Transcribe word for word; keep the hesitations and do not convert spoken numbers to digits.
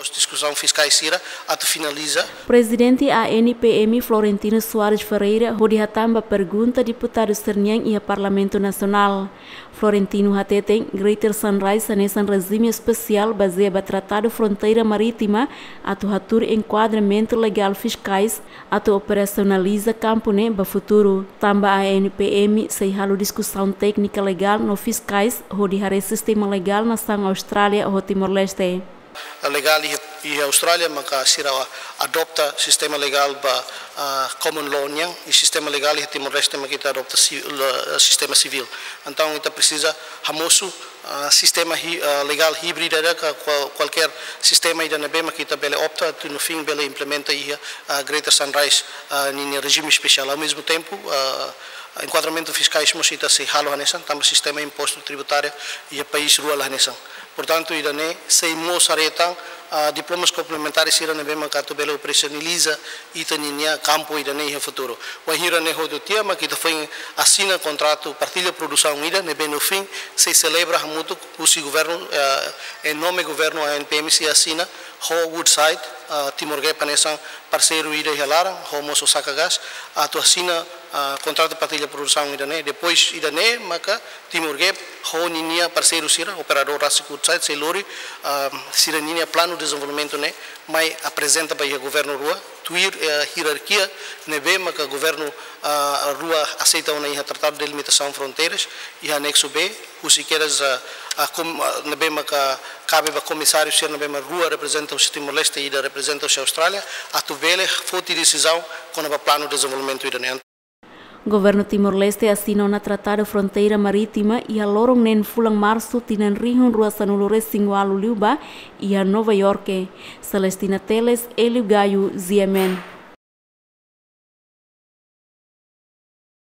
Diskusaun fiskais sira atu finaliza. Prezidente A N P M Florentino Soares Ferreira hodi hatán ba pergunta deputadu sira-nian iha Parlamentu Nasionál. Florentino hateten Greater Sunrise hanesan rejime espesiál bazeia ba Tratadu Fronteira Marítima atu hatuur enkuadramentu legál fiskais atu operasionaliza kampu ne'e ba futuru. Tanba A N P M sei halo diskusaun téknika legál no fiskais hodi haree sistema legál nasaun Austrália ho Timor-Leste. Legál iha, iha Austrália maka sira adopta sistema legál ba, ah, common law nian, i sistema legál iha Timor-Leste maka ita adopta si-, la-, sistema sivíl. Entaun ita presiza hamosu, ah, sistema hí-, ah, legál híbrida ida ka kual-, kualkér sistema ida ne'ebé maka ita bele opta atu no fin bele implementa iha, ah, Greater Sunrise, ah, ninia rejime espesiál. Ao mesmo tempo, ah, enkuadramentu fiskais mós ita sei halo hanesan, tanba sistema impostu tributáriu iha país rua la hanesan. Portantu, ida-ne'e sei mós haree tan, ah, diplomas komplementares sira ne'ebé maka atu bele operasionaliza ita ninia kampu ida-ne'e iha futuru. Wainhira ne'e hotu tiha maka ita foin asina kontratu partilla produsaun ida ne'ebé no fin sei selebra hamutuk husi governu, eh, em nome governu A N P M sei asina ho Woodside, ah, Timor Gap hanesan parseiru ida iha laran, ho mós Osaka Gas, atu asina, ah, kontratu partilla produsaun ida-ne'e. Depois ida-ne'e maka Timor Gap ho ninia parseiru sira, operadór rasik Woodside, sei lori, ah, sira ninia planu dezenvolvimentu ne'e mai aprezenta ba iha governu rua, tuir, eh, hierarkia ne'ebé maka governu, ah, rua aseita ona iha Tratadu Delimitasaun Fronteiras, iha aneksu B, husi kedas, ah, ah, kom-, ah, ne'ebé maka kabe ba komisáriu sira ne'ebé mak rua reprezenta husi Timor-Leste, ida reprezenta husi Austrália, atu bele foti desizaun kona-ba planu dezenvolvimentu ida-ne'e. Governu Timor-Leste asina ona Tratadu Fronteira Marítima iha loron neen fulan Marsu tinan rihun rua sanulu resin ualu liubá iha Nova Iorke. Celestina Teles, Hélio Gaio, G M N.